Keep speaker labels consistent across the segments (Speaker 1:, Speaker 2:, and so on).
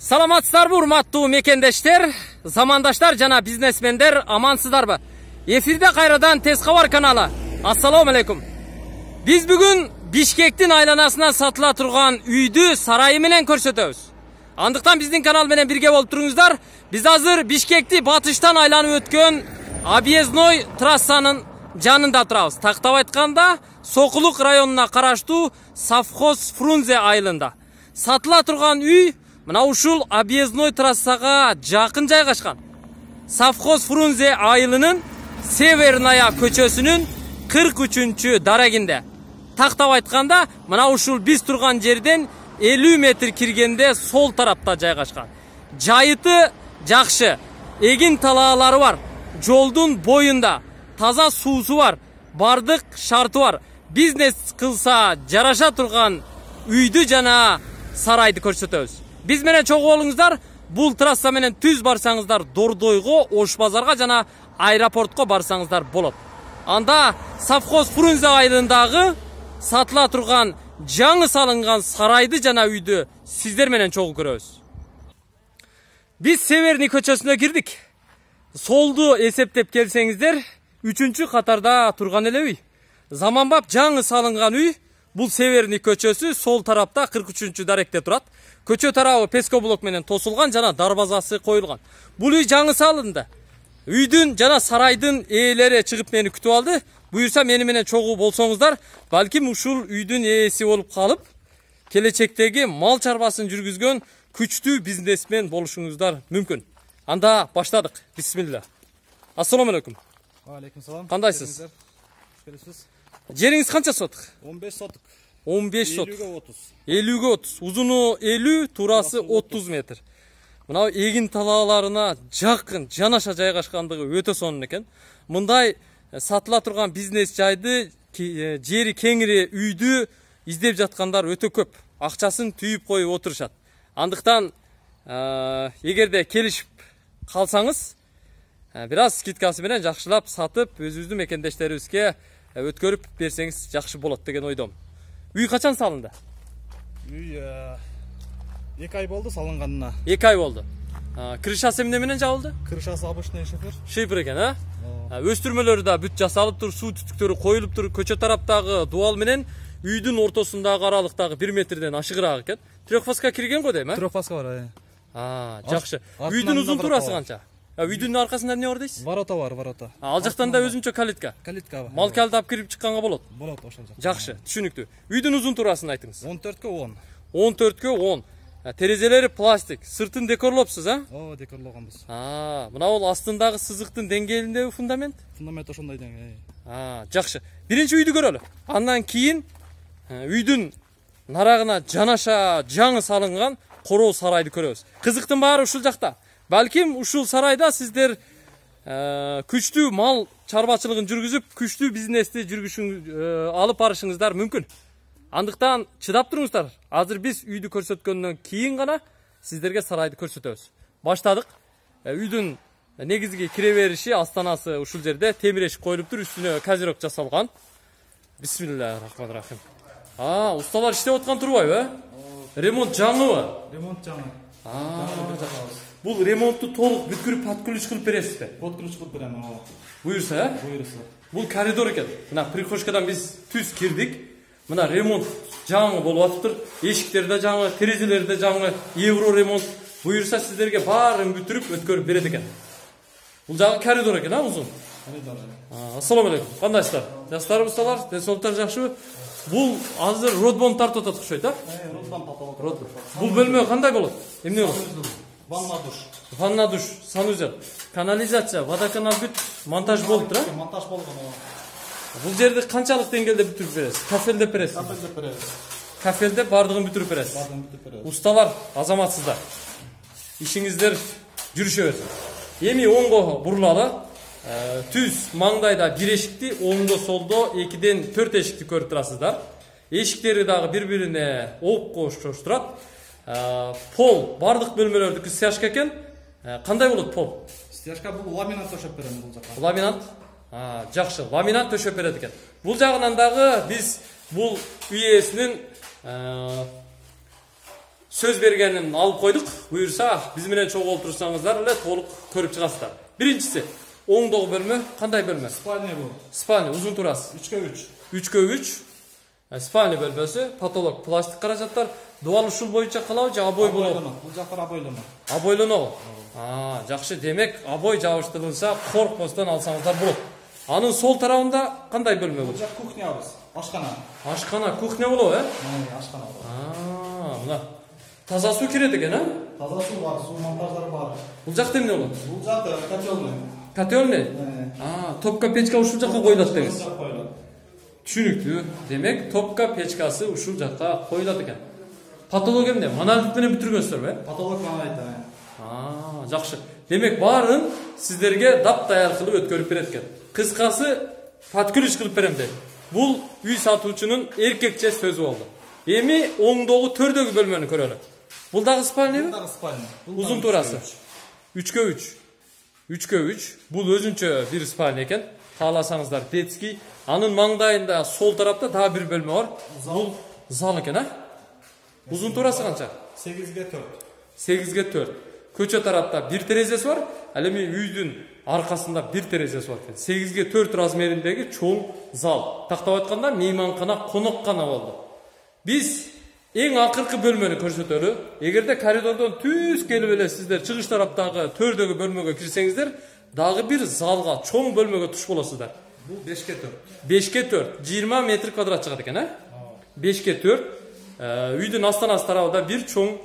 Speaker 1: Саламатсыздарбы, урматтуу мекендештер, замандаштар жана бизнесмендер, амансыздарбы? Эфирде кайрадан Тез кабар каналы. Ассаламу алейкум. Биз бүгүн Бишкектин айланасына сатыла турган үйдү сарайы менен көрсөтөбүз. Андыктан биздин канал менен бирге болуп туруңуздар. Биз азыр Бишкекти батыштан айланып өткөн объездной трассанын жанында турабыз. Тактап айтканда, Сокулук районуна караштуу Совхоз Фрунзе айылында. Сатыла турган үй мына ушул объездной трассага жакын жайгашкан. Совхоз Фрунзе айылынын Северная көчөсүнүн 43-чү дарегинде. Тактап айтканда, мына ушул биз турган жерден 50 метр киргенде сол тарапта жайгашкан. Жайыты жакшы, эгин талаалары бар, жолдун боюнда, таза суусу бар, бардык шарты бар. Бизнес кылса жараша турган үйдү жана сарайды көрсөтөбүз. Биз менен чогуу болуңуздар. Бул трасса менен түз барсаңыздар Дордойго, Ош базарга жана аэропортко барсаңыздар болот. Анда Совхоз Фрунзе айылындагы сатыла турган жаңы салынган сарайды жана үйдү сиздер менен чогуу көрөбүз. Биз Северный көчөсүнө кирдик. Солду эсептеп келсеңиздер, 3-чү катарда турган эле үй. Заманбап жаңы салынган үй. Бул Северный көчөсү сол тарапта 43-чү даректе турат. Көчө тарабы пескоблок менен тосулган жана дарбазасы коюлган. Бул үй жаңы салынды. Үйдүн жана сарайдын ээлери чыгып мени күтүп алды. Буюрса мени менен чогуу болсоңуздар, балким ушул үйдүн ээси болуп калып, келечектеги мал чарбасын жүргүзгөн күчтүү бизнесмен болушуңуздар мүмкүн. Анда баштадык. Бисмилла. Ассаламу алейкум.
Speaker 2: Алейкум салам.
Speaker 1: Кандайсыз? Жериңиз канча сотук?
Speaker 2: 15 сотук.
Speaker 1: 15 сотук.
Speaker 2: 50-ге 30.
Speaker 1: 50-ге 30. Узуну 50, турасы 30 метр. Мына эгин талааларына жакын, жанаша жайгашкандыгы өтө сонун экен. Мындай сатыла турган бизнес жайды, жери кеңири үйдү издеп жаткандар өтө көп. Акчасын түйүп коюп отурушат. Андыктан эгерде келишип калсаңыз, бир аз скидкасы менен жакшылап сатып, өзүбүздүн мекендештерибизге өткөрүп берсеңиз жакшы болот деген ойдом. Үй качан салынды?
Speaker 2: Үй 2 ай болду салынганына.
Speaker 1: 2 ай болду. Крышасы эмне менен жабылды?
Speaker 2: Крышасы обычный шифер.
Speaker 1: Шифер экен, а? Өстүрмөлөрү да бүт жасалып тур, суу түтүктөрү коюлуп тур. Көчө тараптагы дуал менен үйдүн ортосундагы аралыктагы 1 метрден ашыгыраак экен. Трехфаска кирген го дейм, а?
Speaker 2: Трехфаска бар,
Speaker 1: жакшы. Үйдүн узун турасы канча? Үйдүн аркасында эмне бар дейсиз?
Speaker 2: Ворота бар, ворота.
Speaker 1: Ал жактан да өзүнчө калитка.
Speaker 2: Калитка бар.
Speaker 1: Мал калдап кирип чыкканга болот.
Speaker 2: Болот ошол жакта.
Speaker 1: Жакшы, түшүнүктүү. Үйдүн узун турасын айтыңыз.
Speaker 2: 14-ке 10.
Speaker 1: 14-ке 10. Терезелери пластик. Сыртын декорлопсуз, а?
Speaker 2: Декорлогонбуз.
Speaker 1: Мына бул астындагы сызыктын деңгээлиндеги фундамент?
Speaker 2: Фундамент ошондой деңгээлде.
Speaker 1: Жакшы. Биринчи үйдү көрөлү. Андан кийин үйдүн нарагына жанаша жаңы салынган короо сарайды көрөбүз. Кызыктын баары ушул жакта. Балким ушул сарайда сиздер күчтүү мал чарбачылыгын жүргүзүп, күчтүү бизнести алып барышыңыздар мүмкүн. Андыктан чыдап туруңуздар. Азыр биз үйдү көрсөткөндөн кийин гана сиздерге сарайды көрсөтөбүз. Баштадык. Үйдүн негизги кире бериши астанасы ушул жерде темир эшик коюлуп тур, үстүнө козирок жасалган. Бисмиллахиррахманиррахим. Усталар иштеп аткан турбайбы? Ремонт жаңыбы?
Speaker 2: Ремонт жаңы.
Speaker 1: Бул ремонтту толук бүткүрүп подключ кылып бересизби?
Speaker 2: Подключ кылып берем.
Speaker 1: Буюрса,
Speaker 2: Буюрса.
Speaker 1: Бул коридор экен. Мына прихожкадан биз түз кирдик. Мына ремонт жаңы болуп атыптыр. Эшиктер да жаңы, терезелер да жаңы, евро ремонт. Буюрса сиздерге баарын бүтүрүп өткөрүп берет экен. Бул жагы коридор экен, узун.
Speaker 2: Коридор.
Speaker 1: Ассаламу алейкум. Кандайсыздар? Жаштарбы, усталар? Денсаулыктар жакшыбы? Бул азыр родбом тартып атат окшойт, а?
Speaker 2: Родбом тартып атат.
Speaker 1: Бул бөлмө кандай болот? Эмне болот?
Speaker 2: Ванна душ.
Speaker 1: Ванна душ, санузел, канализация, водоканал бүт монтаж болуп тур, а?
Speaker 2: Монтаж болгон.
Speaker 1: Бул жерди канчалык деңгээлде бүтүрүп бересиз? Кафелдеп бересиз?
Speaker 2: Кафелдеп беребиз.
Speaker 1: Кафелдеп бардыгын бүтүрүп бересиз?
Speaker 2: Бардыгын бүтүрүп беребиз.
Speaker 1: Усталар, азаматсыздар. Ишиңиздер жүрүшө берсин. Эми оңго бурулалы. Түз маңдайда бир эшикти, оңдо солдо 2ден 4 эшикти көрүп турасыздар. Эшиктери дагы бири-бирине окшош турат. Пол бардык бөлмөлөрдүкү стяжка экен. Кандай болот пол?
Speaker 2: Стяжка бул ламинат төшөп берем бул жакка.
Speaker 1: Ламинат? Жакшы, ламинат төшөп берет экен. Бул жагынан дагы биз бул үй ээсинин сөз бергенин алып койдук. Буюрса, биз менен чогуу олтурсаңыздар эле толук көрүп чыгасыздар. Биринчиси, оңдогу бөлмө кандай бөлмө?
Speaker 2: Спальня бул.
Speaker 1: Спальня, узун турасы.
Speaker 2: 3/3.
Speaker 1: 3/3. Спальня бөлмөсү, потолок пластик каражаттар. Дубал ушул боюнча калабы же обой болобу?
Speaker 2: Бул жактар обойлоно.
Speaker 1: Обойлонобу? Жакшы. Демек, обой жабыштырылса, коркпостон алсаңыздар болот. Анын сол тарабында кандай бөлмө
Speaker 2: Бул
Speaker 1: бул?
Speaker 2: жак кухнябыз. Ашкана.
Speaker 1: Ашкана, кухня болобу,
Speaker 2: Ашкана.
Speaker 1: Мына таза суу кирет экен,
Speaker 2: Таза суу бар, суу монтаждары бар.
Speaker 1: Бул жакта эмне болот?
Speaker 2: Бул жак котелный.
Speaker 1: Котелный? Топка печка ушул жакка коюлат деңиз.
Speaker 2: Коюлат.
Speaker 1: Түшүнүктүү. Демек, топка печкасы ушул жакка коюлат экен. Потолок эмне? Монолит менен бүтүргөнсүзбү?
Speaker 2: Потолок монолит.
Speaker 1: Жакшы. Демек, баарын сиздерге дап-даяр кылып өткөрүп берет экен. Кыскасы, подкүрүш кылып берем деп. Бул үй сатуучунун эркекче сөзү болду. Эми оңдогу төрдөгү бөлмөнү көрөлү. Бул дагы спальня?
Speaker 2: Бул дагы спальня.
Speaker 1: Узун турасы. 3/3. 3/3. Бул өзүнчө бир спальня экен. Кааласаңыздар детский. Анын маңдайында сол тарапта дагы бир бөлмө бар. Бул зал экен, Узун турасы канча?
Speaker 2: 8/4.
Speaker 1: 8/4. Көчө тарапта бир терезеси бар. Ал эми үйдүн аркасында бир терезеси бар экен. 8/4 размериндеги чоң зал. Тактап айтканда мейманкана, коноккана болду. Биз эң акыркы бөлмөнү көрсөтөлү. Эгерде коридордон түз келип эле сиздер чыгыш тараптагы төрдөгү бөлмөгө кирсеңиздер, дагы бир залга, чоң бөлмөгө туш болосуздар.
Speaker 2: Бул 5/4.
Speaker 1: 5/4, 20 метр квадрат чыгат экен, 5/4. Үйдүн астан-аст тарабында бир чоң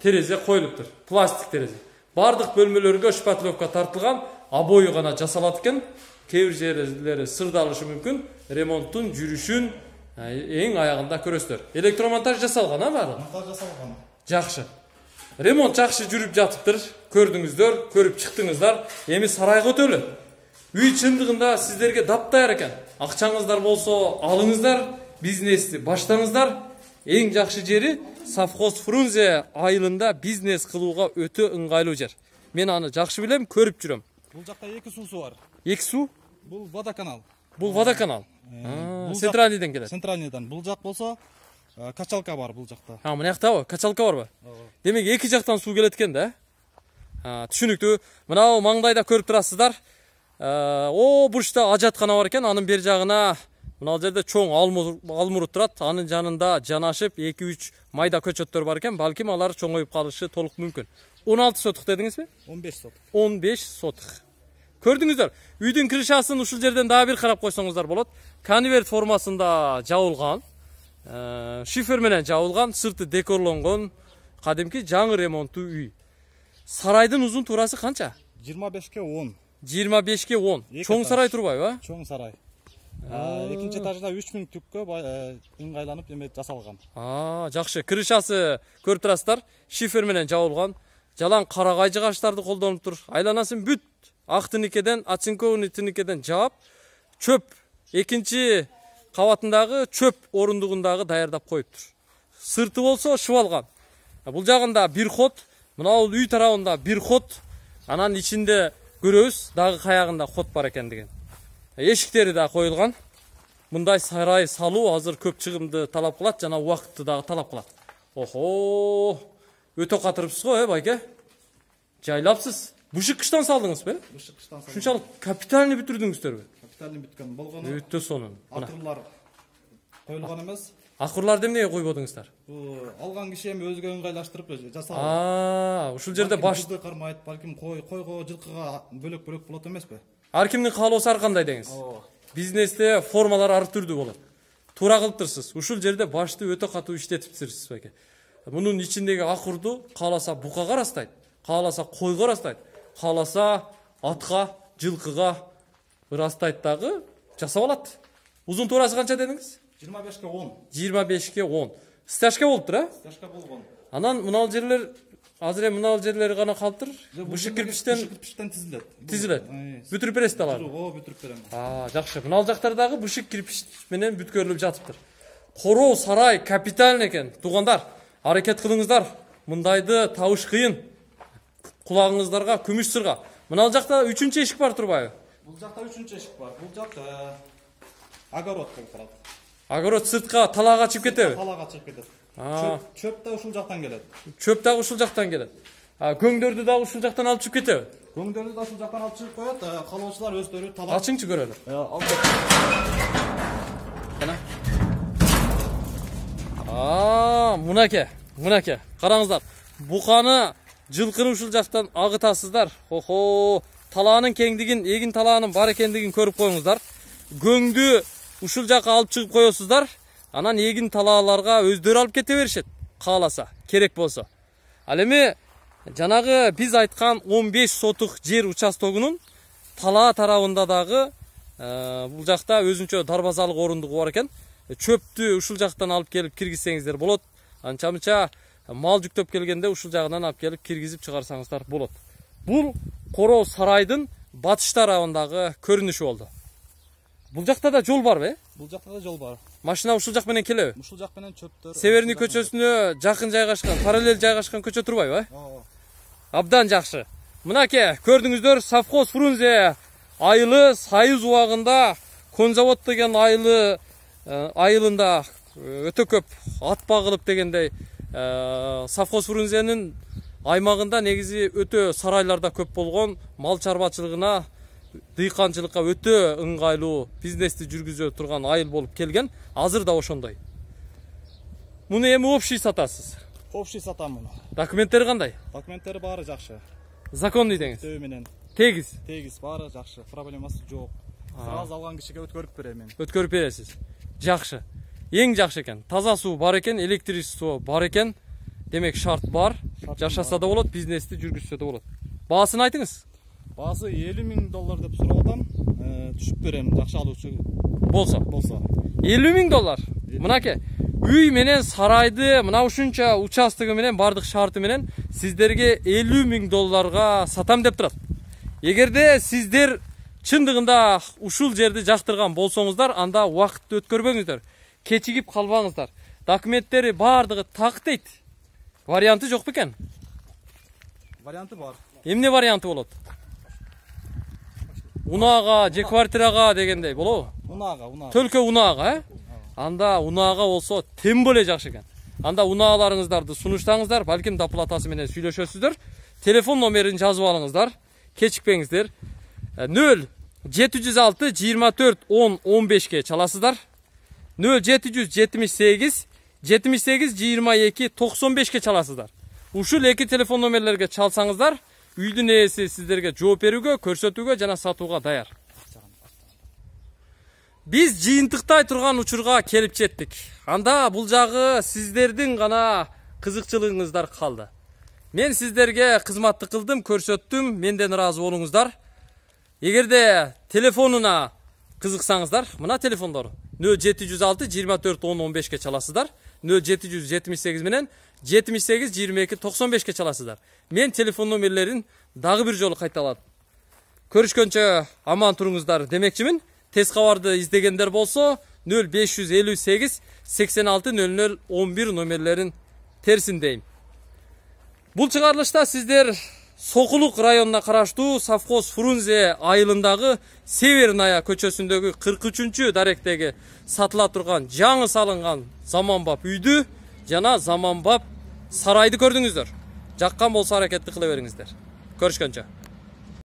Speaker 1: терезе коюлуптур. Пластик терезе. Бардык бөлмөлөргө шпатлевка тартылган, обою гана жасалат экен. Кээ бир жерлери сырдалышы мүмкүн. Ремонттун жүрүшүн эң аягында көрөсүздөр. Электромонтаж жасалган, баары?
Speaker 2: Монтаж жасалган.
Speaker 1: Жакшы. Ремонт жакшы жүрүп жатыптыр. Көрдүңүздөр, көрүп чыктыңыздар. Эми сарайга өтөлү. Үй чындыгында сиздерге дап-даяр экен. Акчаңыздар болсо, алыңыздар, бизнести баштаңыздар. Эң жакшы жери совхоз Фрунзе айылында бизнес кылууга өтө ыңгайлуу жер. Мен аны жакшы билем, көрүп жүрөм.
Speaker 2: Бул жакта 2 суусу бар.
Speaker 1: 2 суу?
Speaker 2: Бул водоканал.
Speaker 1: Бул водоканал. Центральныйдан келет.
Speaker 2: Центральныйдан. Бул жак болсо качалка бар бул жакта.
Speaker 1: Мына жактабы? Качалка барбы? Демек эки жактан суу келет экен да? Түшүнүктүү. Мына маңдайда көрүп турасыздар. Бурчта ажаткана бар экен. Анын бер жагына мына жерде чоң алмурут турат. Анын жанында жанашып 2-3 майда көчөттөр бар экен. Балким алар чоңоюп калышы толук мүмкүн. 16 сотук дедиңизби?
Speaker 2: 15 сотук.
Speaker 1: 15 сотук. Көрдүңүздөр, үйдүн крышасын ушул жерден дагы бир карап койсоңуздар болот. Конверт формасында жабылган, шифер менен жабылган, сырты декорлонгон, кадимки жаңы ремонттуу үй. Сарайдын узун турасы канча?
Speaker 2: 25/10.
Speaker 1: 25/10. Чоң сарай турбайбы?
Speaker 2: Чоң сарай. Экинчи этажда 3000 түккө ыңгайланып эме жасалган.
Speaker 1: Жакшы. Крышасы көрүп турасыздар, шифер менен жабылган. Жалаң карагай жыгачтарды колдонуптур. Айланасын бүт ак тиникеден, оцинкованный тиникеден жаап, чөп экинчи кабатындагы чөп орундугундагы даярдап коюптур. Сырты болсо шыбалган. Бул жагында бир ход, мына үй тарабында бир ход, анан ичинде көрөбүз дагы каягында ход бар экендигин. Эшиктери да коюлган. Мындай сарай салуу азыр көп чыгымды талап кылат жана убакытты дагы талап кылат. Өтө катырыпсыз го, байке? Жайлапсыз. Бушик кыштан салдыңызбы?
Speaker 2: Бушик кыштан салдым.
Speaker 1: Шунчалык капитальный бүтүрдүңүздөрбү?
Speaker 2: Капитальный бүткөн болгону.
Speaker 1: Өтө сонун.
Speaker 2: Акырлар коюлган эмес.
Speaker 1: Акырларды эмнеге койбодуңуздар?
Speaker 2: Алган киши эми өзгө ыңгайлаштырып жасалган.
Speaker 1: Ушул жерде башты
Speaker 2: кармайт, балким койго, жылкыга бөлөк-бөлөк болот эмеспи?
Speaker 1: Ар кимдин каалоосу ар кандай деңиз. Бизнесте формалар ар түрдүү болот. Туура кылыптырсыз. Ушул жерде башты өтө катуу иштетипсиз байке. Мунун ичиндеги акырды кааласа букага ырастайт, кааласа койго ырастайт, кааласа атка, жылкыга ырастайт дагы жасап алат. Узун туурасы канча дедиңиз?
Speaker 2: 25/10.
Speaker 1: 25/10. Стяжка болуптур,
Speaker 2: Стяжка болгон.
Speaker 1: Анан мынал жерлер азыр эми мынал жерлери гана калыптыр. Бушик кирпичтен тизилет. Бүтүрүп бересиз алар.
Speaker 2: Бүтүрүп берем.
Speaker 1: Жакшы. Мынал жактардагы бушик кирпич менен бүткөрүлүп жатыптыр. Короо сарай капиталь экен. Туугандар, аракет кылыңыздар. Мындайды табыш кыйын. Кулагыңыздарга күмүш сырга. Мынал жакта 3-чү эшик бар турбайбы?
Speaker 2: Бул жакта 3-чү эшик бар. Бул жак огород болуп калат.
Speaker 1: Огород сыртка талаага чыгып кетеби?
Speaker 2: Талаага чыгып кетет. Çöp da uşul жактан келет.
Speaker 1: Çöp дагы ушул жактан келет. Көңдөрдү дагы ушул жактан алып чыгып кетеби?
Speaker 2: Көңдөрдү да ушул жактан алып чыгып коет. Калоочулар өздөрү талап.
Speaker 1: Ачыңчы көрөлү. Мынакей. Караңыздар. Буканы жылкыны ушул жактан агытасыздар. Охо, талаанын кеңдигин, эгин талаанын бар экендигин көрүп коюңуздар. Көңдү ушул жакка алып чыгып коесуздар. Анан эгин талааларга өздөрү алып кете беришет. Кааласа, керек болсо. Ал эми жанагы биз айткан 15 сотук жер участогунун талаа тарабында дагы бул жакта өзүнчө дарбазалык орундугу бар экен. Чөптү ушул жактан алып келип киргизсеңиздер болот. Анча-мынча мал жүктөп келгенде ушул жагынан алып келип киргизип чыгарсаңыздар болот. Бул Короо сарайдын батыш тарабындагы көрүнүшү болду. Бул жакта да жол барбы?
Speaker 2: Бул жакта да жол бар.
Speaker 1: Машина ушул жак менен келеби?
Speaker 2: Ушул жак менен чөптөр.
Speaker 1: Северный көчөсүнө жакын жайгашкан, параллель жайгашкан көчө турбайбы? Абдан жакшы. Мынакей, көрдүңүздөр, совхоз Фрунзе айылы Сайыз убагында Конзавод деген айылында өтө көп ат багылып дегендей совхоз Фрунзенин аймагында негизи өтө сарайларда көп болгон, мал чарбачылыгына, дыйканчылыкка өтө ыңгайлуу бизнести жүргүзө турган айыл болуп келген. Азыр да ошондой. Муну эми общий сатасыз.
Speaker 2: Общий сатам муну.
Speaker 1: Документтери кандай?
Speaker 2: Документтери баары жакшы.
Speaker 1: Законный деңиз.
Speaker 2: Төбө менен.
Speaker 1: Тегиз.
Speaker 2: Тегиз, баары жакшы. Проблемасы жок. Сразу алган кишиге өткөрүп берем мен.
Speaker 1: Өткөрүп бересиз. Жакшы. Эң жакшы экен. Таза суу бар экен, электричество бар экен. Демек шарт бар. Жашаса да болот, бизнести жүргүзсө да болот. Баасын айтыңыз.
Speaker 2: Баасы $50,000 деп сурап атам. Түшүп берем, жакшы алуучу
Speaker 1: болсо. $50,000. Мынакей. Үй менен сарайды, мына ушунча участогы менен бардык шарты менен сиздерге $50,000 сатам деп турат. Эгерде сиздер чындыгында ушул жерди жактырган болсоңуздар, анда убакытты өткөрбөңүздөр. Кечигип калбаңыздар. Документтери бардыгы так дейт. Варианты жок бекен?
Speaker 2: Варианты бар.
Speaker 1: Эмне варианты болот? Унаага, же квартирага дегендей болобу?
Speaker 2: Унаага.
Speaker 1: Төлкө унаага, Анда унаага болсо тем более жакшы экен. Анда унааlarыңыздарды сунуштаңыздар, балким доплатасы менен сүйлөшөсүздөр. Телефон номерин жазып алыңыздар. Кечикпеңиздер. 0706 24 10 15ке чаласыздар. 0778 78 22 95ке чаласыздар. Ушул эки телефон номерлерге чалсаңыздар, үйдүн ээси сиздерге жооп берүүгө, көрсөтүүгө жана сатууга даяр. Биз жыйынтыктай турган учурга келип жеттик. Анда бул жагы сиздердин гана кызыкчылыгыңыздар калды. Мен сиздерге кызматты кылдым, көрсөттүм, менден ыраазы болуңуздар. Эгерде телефонуна кызыксаңыздар, мына телефондор 0706 24 10 15ке чаласыздар. 0778 менен 78 22 95ке чаласыздар. Мен телефон номерлерин дагы бир жолу кайталадым. Көрүшкөнчө аман туруңуздар демекчимин. Тез кабарды издегендер болсо 0558 86 00 11 номерлерин терсин дейм. Бул чыгарылышта сиздер Сокулук районуна караштуу совхоз Фрунзе айылындагы Северная көчөсүндөгү 43-чү даректеги сатыла турган жаңы салынган заманбап үйдү жана заманбап сарайды көрдүңүздөр. Жаккан болсо аракетти кыла бериңиздер. Көрүшкөнчө.